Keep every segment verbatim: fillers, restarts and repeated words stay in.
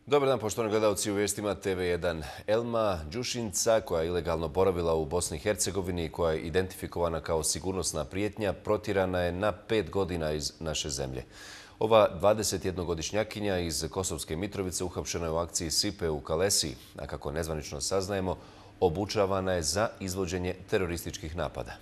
Dobar dan, poštovani gledalci, u vijestima T V jedan. Elma Đušinca, koja je ilegalno boravila u Bosni i Hercegovini i koja je identifikovana kao sigurnosna prijetnja, protjerana je na pet godina iz naše zemlje. Ova dvadesetjednogodišnjakinja iz Kosovske Mitrovice uhapšena je u akciji Sipe u Kalesiji, a kako nezvanično saznajemo, obučavana je za izvođenje terorističkih napada.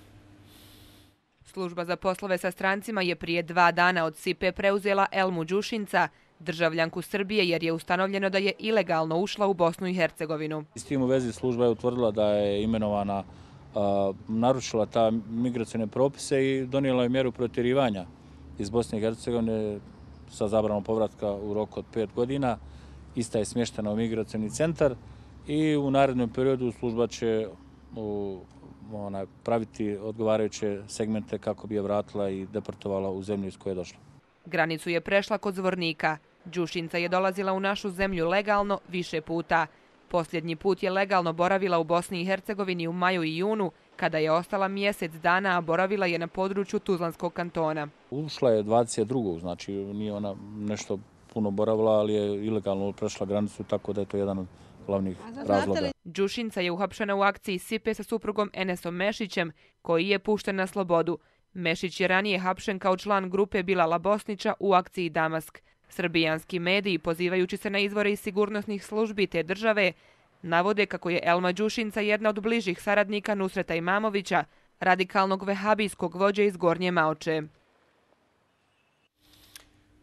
Služba za poslove sa strancima je prije dva dana od Sipe preuzela Elmu Đušinca, državljanku Srbije, jer je ustanovljeno da je ilegalno ušla u Bosnu i Hercegovinu. S tim u vezi služba je utvrdila da je imenovana, a, narušila ta migracijne propise i donijela je mjeru protjerivanja iz Bosne i Hercegovine sa zabranom povratka u roku od pet godina. Ista je smještena u migracijni centar i u narednom periodu služba će u, ona, praviti odgovarajuće segmente kako bi je vratila i deportovala u zemlju iz koje je došla. Granicu je prešla kod Zvornika. Đušinca je dolazila u našu zemlju legalno više puta. Posljednji put je legalno boravila u Bosni i Hercegovini u maju i junu, kada je ostala mjesec dana, a boravila je na području Tuzlanskog kantona. Ušla je dvadeset drugog znači nije ona nešto puno boravila, ali je ilegalno prešla granicu, tako da je to jedan od glavnih razloga. Đušinca je uhapšena u akciji Sipe sa suprugom Enesom Mešićem, koji je pušten na slobodu. Mešić je ranije hapšen kao član grupe Bilala Bosnića u akciji Damask. Srbijanski mediji, pozivajući se na izvore iz sigurnosnih službi te države, navode kako je Elma Đušinca jedna od bližih saradnika Nusreta Imamovića, radikalnog vehabijskog vođe iz Gornje Maoče.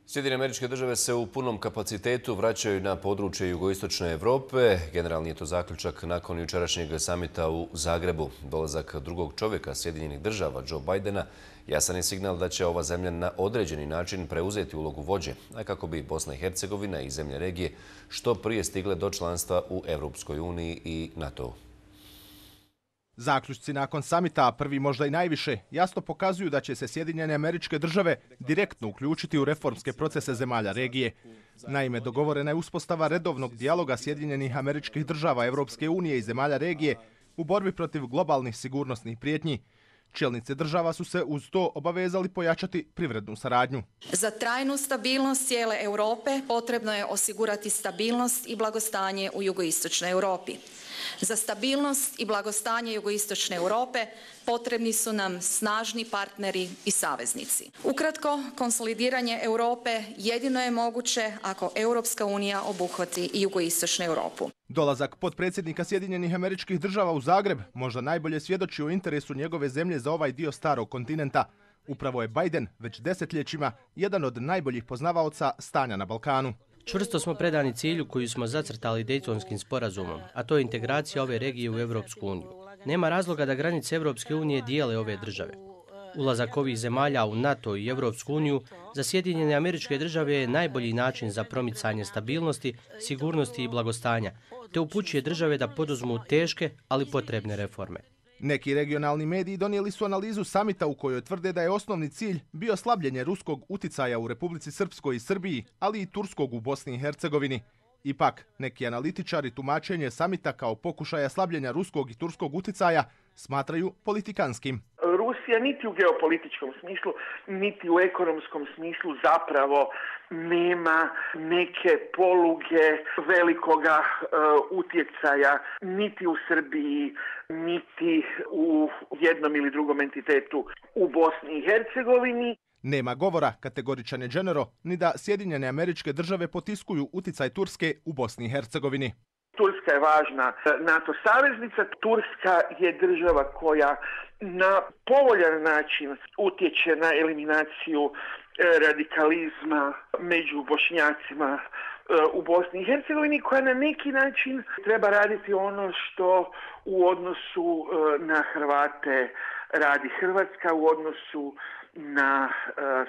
Sjedinjene Američke Države se u punom kapacitetu vraćaju na područje jugoistočne Evrope. Generalni je to zaključak nakon jučerašnjeg samita u Zagrebu. Dolazak drugog čovjeka Sjedinjenih Država, Joe Bidena, jasan je signal da će ova zemlja na određeni način preuzeti ulogu vođe, a kako bi Bosna i Hercegovina i zemlje regije što prije stigle do članstva u Europskoj uniji i NATO-u. Zaključci nakon samita, prvi možda i najviše, jasno pokazuju da će se Sjedinjene Američke Države direktno uključiti u reformske procese zemalja regije. Naime, dogovorena je uspostava redovnog dijaloga Sjedinjenih Američkih Država, Evropske unije i zemalja regije u borbi protiv globalnih sigurnosnih prijetnji. Čelnice država su se uz to obavezali pojačati privrednu saradnju. Za trajnu stabilnost cijele Europe potrebno je osigurati stabilnost i blagostanje u jugoistočnoj Europi. Za stabilnost i blagostanje jugoistočne Europe potrebni su nam snažni partneri i saveznici. Ukratko, konsolidiranje Europe jedino je moguće ako Europska unija obuhvati i jugoistočnu Europu. Dolazak potpredsjednika Sjedinjenih Američkih Država u Zagreb možda najbolje svjedoči o interesu njegove zemlje za ovaj dio starog kontinenta. Upravo je Biden već desetljećima jedan od najboljih poznavaoca stanja na Balkanu. Čvrsto smo predani cilju koju smo zacrtali Dejtonskim sporazumom, a to je integracija ove regije u Europsku uniju. Nema razloga da granice Europske unije dijele ove države. Ulazak ovih zemalja u NATO i Europsku uniju za Sjedinjene Američke Države je najbolji način za promicanje stabilnosti, sigurnosti i blagostanja, te upućuje države da poduzmu teške, ali potrebne reforme. Neki regionalni mediji donijeli su analizu samita u kojoj tvrde da je osnovni cilj bio slabljenje ruskog uticaja u Republici Srpskoj i Srbiji, ali i turskog u Bosni i Hercegovini. Ipak, neki analitičari tumačenje samita kao pokušaja slabljenja ruskog i turskog uticaja smatraju politikanskim. Rusija niti u geopolitičkom smislu, niti u ekonomskom smislu zapravo nema neke poluge velikoga uh, utjecaja niti u Srbiji, niti u jednom ili drugom entitetu u Bosni i Hercegovini. Nema govora, kategoričan je Genero, ni da Sjedinjene Američke Države potiskuju uticaj Turske u Bosni i Hercegovini. Turska je važna NATO saveznica. Turska je država koja na povoljan način utječe na eliminaciju radikalizma među Bošnjacima u Bosni i Hercegovini, koja na neki način treba raditi ono što u odnosu na Hrvate radi Hrvatska, u odnosu na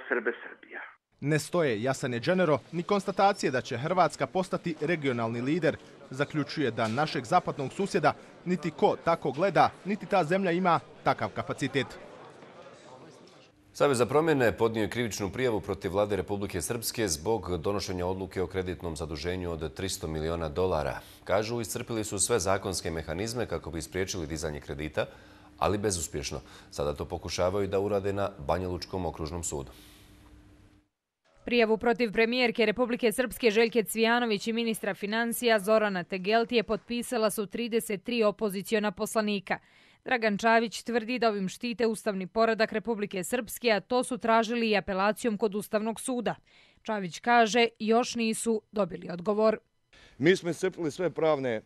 Srbe Srbija. Ne stoje, jasan je Genero, ni konstatacije da će Hrvatska postati regionalni lider. Zaključuje da našeg zapadnog susjeda niti ko tako gleda, niti ta zemlja ima takav kapacitet. Savez za promjene podnio je krivičnu prijavu protiv vlade Republike Srpske zbog donošenja odluke o kreditnom zaduženju od tristo miliona dolara. Kažu, iscrpili su sve zakonske mehanizme kako bi spriječili dizanje kredita, ali bezuspješno. Sada to pokušavaju da urade na Banjalučkom okružnom sudu. Prijavu protiv premijerke Republike Srpske Željke Cvijanović i ministra financija Zorana Tegeltije potpisala su trideset tri opoziciona poslanika. Dragan Čavić tvrdi da ovim štite ustavni poredak Republike Srpske, a to su tražili i apelacijom kod Ustavnog suda. Čavić kaže još nisu dobili odgovor. Mi smo iscrpili sve pravne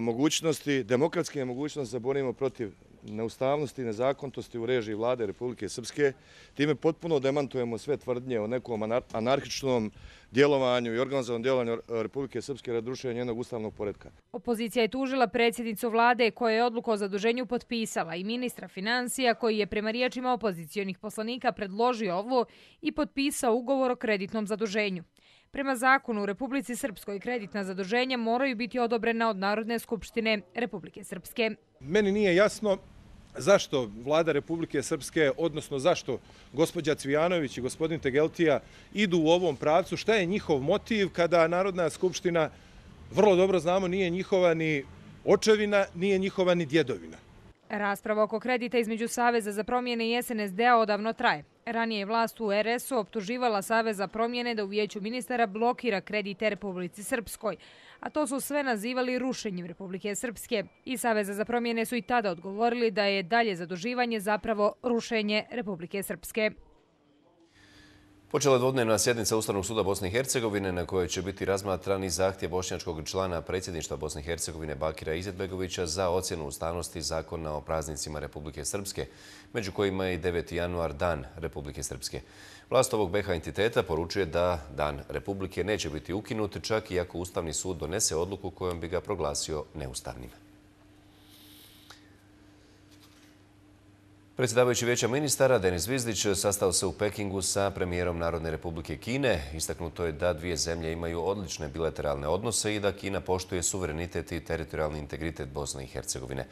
mogućnosti, demokratske mogućnosti da borimo protiv neustavnosti i nezakonitosti u režiji vlade Republike Srpske. Time potpuno demantujemo sve tvrdnje o nekom anarhičnom djelovanju i organizovanom djelovanju Republike Srpske radi rušenja njenog ustavnog poretka. Opozicija je tužila predsjednicu vlade koja je odluku o zaduženju potpisala i ministra financija koji je prema riječima opozicionih poslanika predložio ovo i potpisao ugovor o kreditnom zaduženju. Prema zakonu u Republici Srpskoj kreditna zaduženja moraju biti odobrena od Narodne skupštine Republike Srpske. Meni nije jasno zašto vlada Republike Srpske, odnosno zašto gospođa Cvijanović i gospodin Tegeltija idu u ovom pravcu, šta je njihov motiv kada Narodna skupština, vrlo dobro znamo, nije njihova ni očevina, nije njihova ni djedovina. Rasprava oko kredita između Saveza za promjene i S N S D-a odavno traje. Ranije je vlast u R S U optuživala Savez za promjene da u vijeću ministara blokira kredite Republici Srpskoj, a to su sve nazivali rušenjem Republike Srpske. I Saveza za promjene su i tada odgovorili da je dalje zaduživanje zapravo rušenje Republike Srpske. Počela je dvodnevna sjednica Ustavnog suda Bosne i Hercegovine na kojoj će biti razmatran i zahtjev bošnjačkog člana predsjedništva Bosne i Hercegovine Bakira Izetbegovića za ocjenu ustavnosti zakona o praznicima Republike Srpske, među kojima je i deveti januar Dan Republike Srpske. Vlast ovog B iH entiteta poručuje da Dan Republike neće biti ukinut, čak i ako Ustavni sud donese odluku kojom bi ga proglasio neustavnim. Predsjedavajući Vijeća ministara Denis Zvizdić sastao se u Pekingu sa premijerom Narodne Republike Kine. Istaknuto je da dvije zemlje imaju odlične bilateralne odnose i da Kina poštuje suverenitet i teritorijalni integritet Bosne i Hercegovine.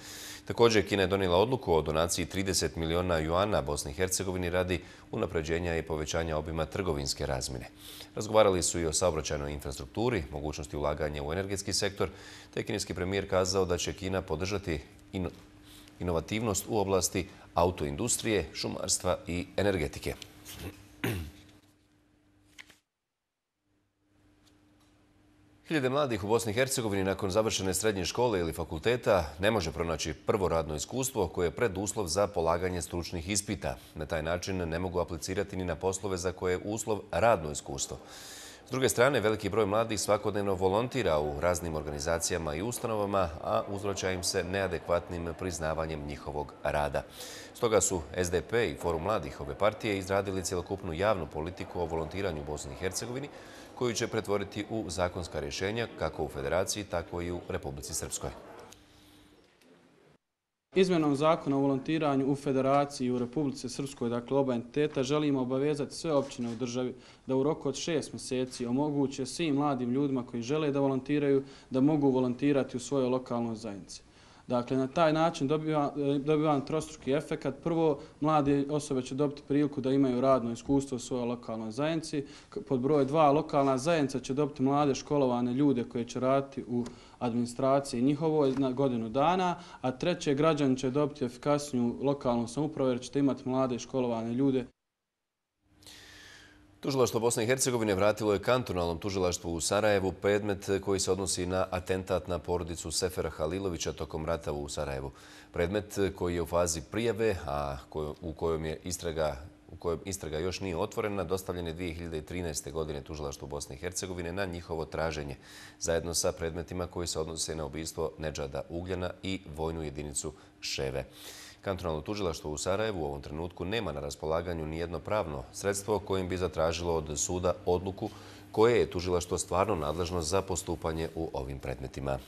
Također, Kina je donijela odluku o donaciji trideset miliona juana Bosni i Hercegovini radi unapređenja i povećanja obima trgovinske razmjene. Razgovarali su i o saobraćajnoj infrastrukturi, mogućnosti ulaganja u energetski sektor, te kineski premijer kazao da će Kina podržati ino inovativnost u oblasti autoindustrije, šumarstva i energetike. Hiljade mladih u Bosni i Hercegovini nakon završene srednje škole ili fakulteta ne može pronaći prvo radno iskustvo koje je preduslov za polaganje stručnih ispita. Na taj način ne mogu aplicirati ni na poslove za koje je uslov radno iskustvo. S druge strane, veliki broj mladih svakodnevno volontira u raznim organizacijama i ustanovama, a uzvraća im se neadekvatnim priznavanjem njihovog rada. Stoga su S D P i Forum mladih ove partije izradili cjelokupnu javnu politiku o volontiranju u Bosni i Hercegovini, koju će pretvoriti u zakonska rješenja kako u Federaciji, tako i u Republici Srpskoj. Izmjenom zakona o volontiranju u Federaciji i u Republici Srpskoj, dakle oba entiteta, želimo obavezati sve općine u državi da u roku od šest mjeseci omoguće svim mladim ljudima koji žele da volontiraju da mogu volontirati u svojoj lokalnoj zajednici. Dakle, na taj način dobivam trostruki efekat. Prvo, mlade osobe će dobiti priliku da imaju radno iskustvo u svojoj lokalnoj zajednici. Pod broj dva, lokalna zajednica će dobiti mlade školovane ljude koje će raditi u administraciji njihovoj na godinu dana, a treće, građani će dobiti efikasniju lokalnu samoupravu jer ćete imati mlade školovane ljude. Tužilaštvo Bosne i Hercegovine vratilo je kantonalnom tužilaštvu u Sarajevu predmet koji se odnosi na atentat na porodicu Sefera Halilovića tokom rata u Sarajevu. Predmet koji je u fazi prijave, a u kojom je istraga u kojem istraga još nije otvorena, dostavljen je dvije hiljade trinaeste. godine tužilaštvu Bosne i Hercegovine na njihovo traženje, zajedno sa predmetima koji se odnose na ubistvo Nedžada Ugljana i vojnu jedinicu Ševe. Kantonalno tužilaštvo u Sarajevu u ovom trenutku nema na raspolaganju nijedno pravno sredstvo kojim bi zatražilo od suda odluku koje je tužilaštvo stvarno nadležno za postupanje u ovim predmetima.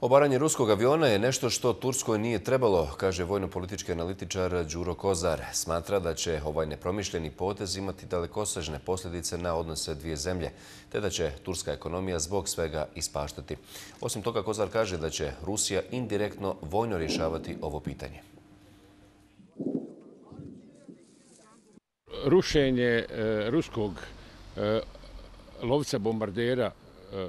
Obaranje ruskog aviona je nešto što Turskoj nije trebalo, kaže vojno-politički analitičar Đuro Kozar. Smatra da će ovaj nepromišljeni potez imati dalekosežne posljedice na odnose dvije zemlje, te da će turska ekonomija zbog svega ispaštati. Osim toga, Kozar kaže da će Rusija indirektno vojno rješavati ovo pitanje. Rušenje ruskog lovca bombardera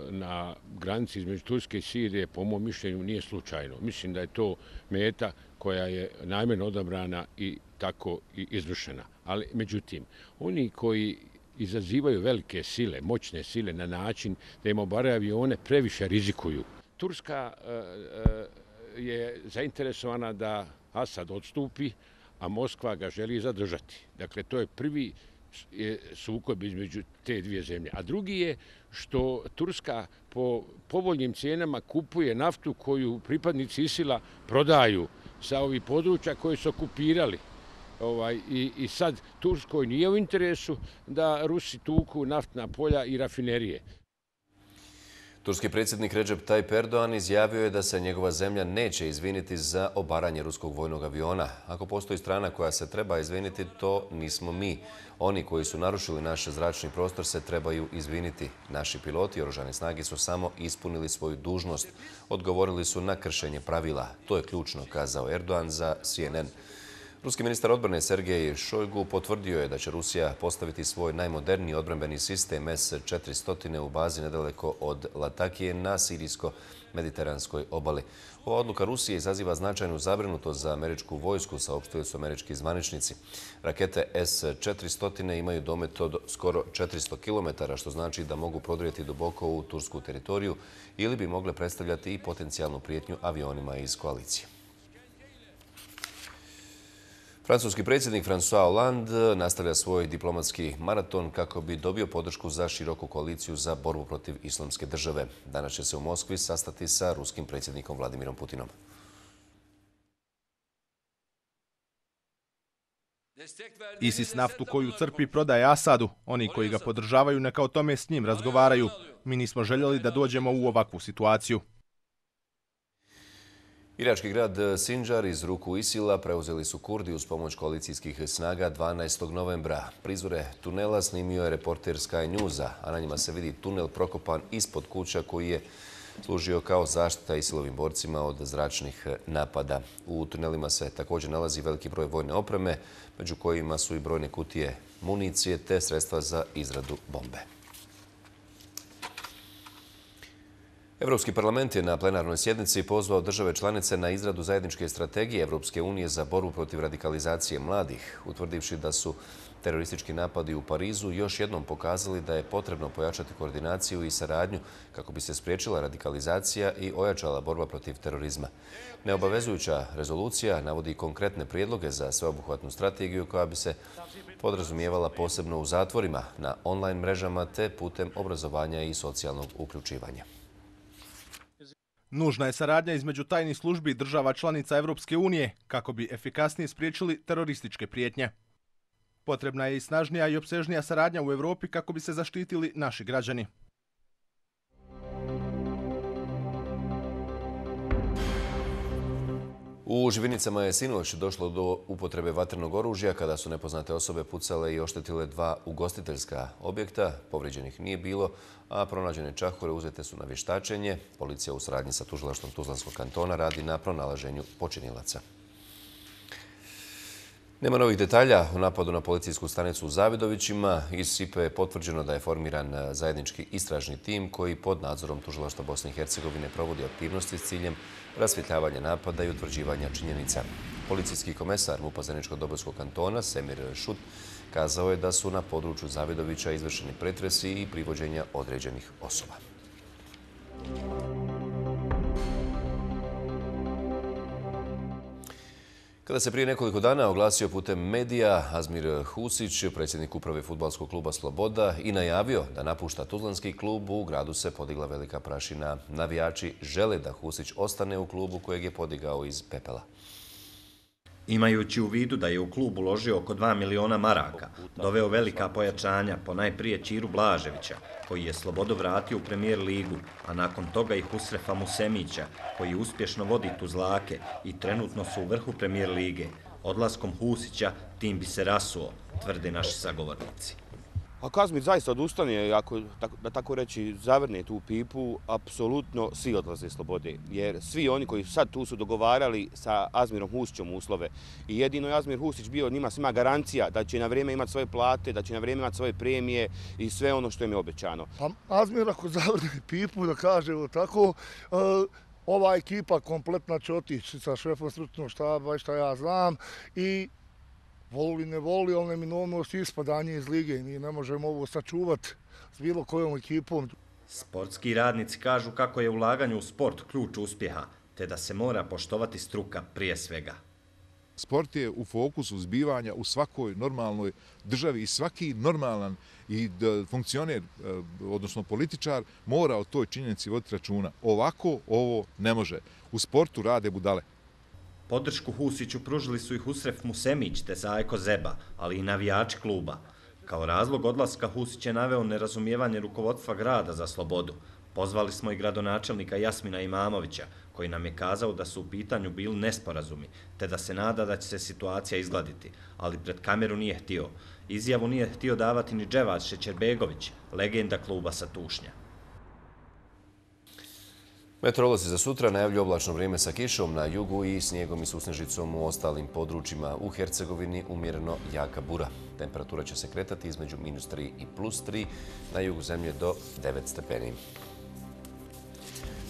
na granici između Turske i Sirije, po mom mišljenju, nije slučajno. Mislim da je to meta koja je namjerno odabrana i tako i izvršena. Ali, međutim, oni koji izazivaju velike sile, moćne sile na način da im obaraju avione previše rizikuju. Turska je zainteresovana da Asad odstupi, a Moskva ga želi zadržati. Dakle, to je prvi sukob između te dvije zemlje. A drugi je što Turska po povoljnim cijenama kupuje naftu koju pripadnici ISIL-a prodaju sa ovih područja koje su okupirali. Ovaj, i, I sad Turskoj nije u interesu da Rusi tuku naftna polja i rafinerije. Turski predsjednik Recep Tayyip Erdogan izjavio je da se njegova zemlja neće izviniti za obaranje ruskog vojnog aviona. Ako postoji strana koja se treba izviniti, to nismo mi. Oni koji su narušili naš zračni prostor se trebaju izviniti. Naši piloti i oružane snage su samo ispunili svoju dužnost. Odgovorili su na kršenje pravila. To je ključno, kazao Erdogan za C N N. Ruski ministar odbrane Sergej Šojgu potvrdio je da će Rusija postaviti svoj najmoderniji odbrambeni sistem S četiristo u bazi nedaleko od Latakije na sirijsko-mediteranskoj obali. Ova odluka Rusije izaziva značajnu zabrinutost za američku vojsku, saopštili su američki zvaničnici. Rakete S četiristo imaju domet od skoro četiristo kilometara, što znači da mogu prodrijeti duboko u tursku teritoriju ili bi mogle predstavljati i potencijalnu prijetnju avionima iz koalicije. Francuski predsjednik François Hollande nastavlja svoj diplomatski maraton kako bi dobio podršku za široku koaliciju za borbu protiv islamske države. Danas će se u Moskvi sastati sa ruskim predsjednikom Vladimirom Putinom. ISIS naftu koju crpi prodaje Asadu. Oni koji ga podržavaju neka o tome s njim razgovaraju. Mi nismo željeli da dođemo u ovakvu situaciju. Irački grad Sinjar iz ruku ISIL-a preuzeli su Kurdi uz pomoć koalicijskih snaga dvanaestog novembra. Prizore tunela snimio je reporter Sky Newsa, a na njima se vidi tunel prokopan ispod kuća koji je služio kao zaštita ISIL-ovim borcima od zračnih napada. U tunelima se također nalazi veliki broj vojne opreme, među kojima su i brojne kutije municije te sredstva za izradu bombe. Evropski parlament je na plenarnoj sjednici pozvao države članice na izradu zajedničke strategije Evropske unije za borbu protiv radikalizacije mladih, utvrdivši da su teroristički napadi u Parizu još jednom pokazali da je potrebno pojačati koordinaciju i saradnju kako bi se spriječila radikalizacija i ojačala borba protiv terorizma. Neobavezujuća rezolucija navodi konkretne prijedloge za sveobuhvatnu strategiju koja bi se podrazumijevala posebno u zatvorima, na online mrežama te putem obrazovanja i socijalnog uključivanja. Nužna je saradnja između tajnih službi država članica Evropske unije kako bi efikasnije spriječili terorističke prijetnje. Potrebna je i snažnija i opsežnija saradnja u Evropi kako bi se zaštitili naši građani. U Živinicama je sinoć došlo do upotrebe vatrenog oružja kada su nepoznate osobe pucale i oštetile dva ugostiteljska objekta. Povrijeđenih nije bilo, a pronađene čahure uzete su na vještačenje. Policija u suradnji sa tužilaštvom Tuzlanskog kantona radi na pronalaženju počinilaca. Nema novih detalja o napadu na policijsku stanicu u Zavidovićima. Iz S I P E je potvrđeno da je formiran zajednički istražni tim koji pod nadzorom tužilaštva Bosne i Hercegovine provodi aktivnosti s ciljem rasvjetljavanja napada i utvrđivanja činjenica. Policijski komesar M U P-a Zeničko-Dobojskog kantona Semir Šut kazao je da su na području Zavidovića izvršeni pretresi i privođenja određenih osoba. Kada se prije nekoliko dana oglasio putem medija Azmir Husić, predsjednik uprave fudbalskog kluba Sloboda, i najavio da napušta tuzlanski klub, u gradu se podigla velika prašina. Navijači žele da Husić ostane u klubu kojeg je podigao iz pepela. Imajući u vidu da je u klub uložio oko dva miliona maraka, doveo velika pojačanja, ponajprije Ćiru Blaževića, koji je Slobodu vratio u Premijer ligu, a nakon toga i Husrefa Musemića, koji uspješno vodi Tuzlake i trenutno su u vrhu Premijer lige. Odlaskom Husića tim bi se rasuo, tvrde naši sagovornici. A Kazmir zaista odustane, ako, da tako reći, zavrne tu pipu, apsolutno svi odlaze slobode. Jer svi oni koji sad tu su dogovarali sa Azmirom Husićem uslove i jedino je Azmir Husić bio njima svima garancija da će na vrijeme imati svoje plate, da će na vrijeme imati svoje premije i sve ono što im je obećano. Pa Azmir ako zavrne pipu, da kažemo tako, ova ekipa kompletna će otići sa šefom stručnog štaba, šta ja znam, i voli ne voli, ali neminovnost ispadanje iz lige. Mi ne možemo ovo sačuvati s bilo kojom ekipom. Sportski radnici kažu kako je ulaganje u sport ključ uspjeha, te da se mora poštovati struka prije svega. Sport je u fokusu zbivanja u svakoj normalnoj državi i svaki normalan i funkcioner, odnosno političar, mora o toj činjenici voditi računa. Ovako ovo ne može. U sportu rade budale. Podršku Husiću pružili su i Husref Musemić te Zajko Zeba, ali i navijači kluba. Kao razlog odlaska Husić je naveo nerazumijevanje rukovodstva grada za slobodu. Pozvali smo i gradonačelnika Jasmina Imamovića, koji nam je kazao da su u pitanju bili nesporazumi, te da se nada da će se situacija izgladiti, ali pred kameru nije htio. Izjavu nije htio davati ni Dževad Šećerbegović, legenda kluba sa Tušnja. Meteorolozi za sutra najavljuju oblačno vrijeme sa kišom na jugu i snijegom i susnežicom u ostalim područjima. U Hercegovini umjereno jaka bura. Temperatura će se kretati između minus tri i plus tri, na jugu zemlje do devet stepeni.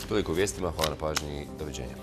Toliko u vijestima, hvala na pažnji i doviđenja.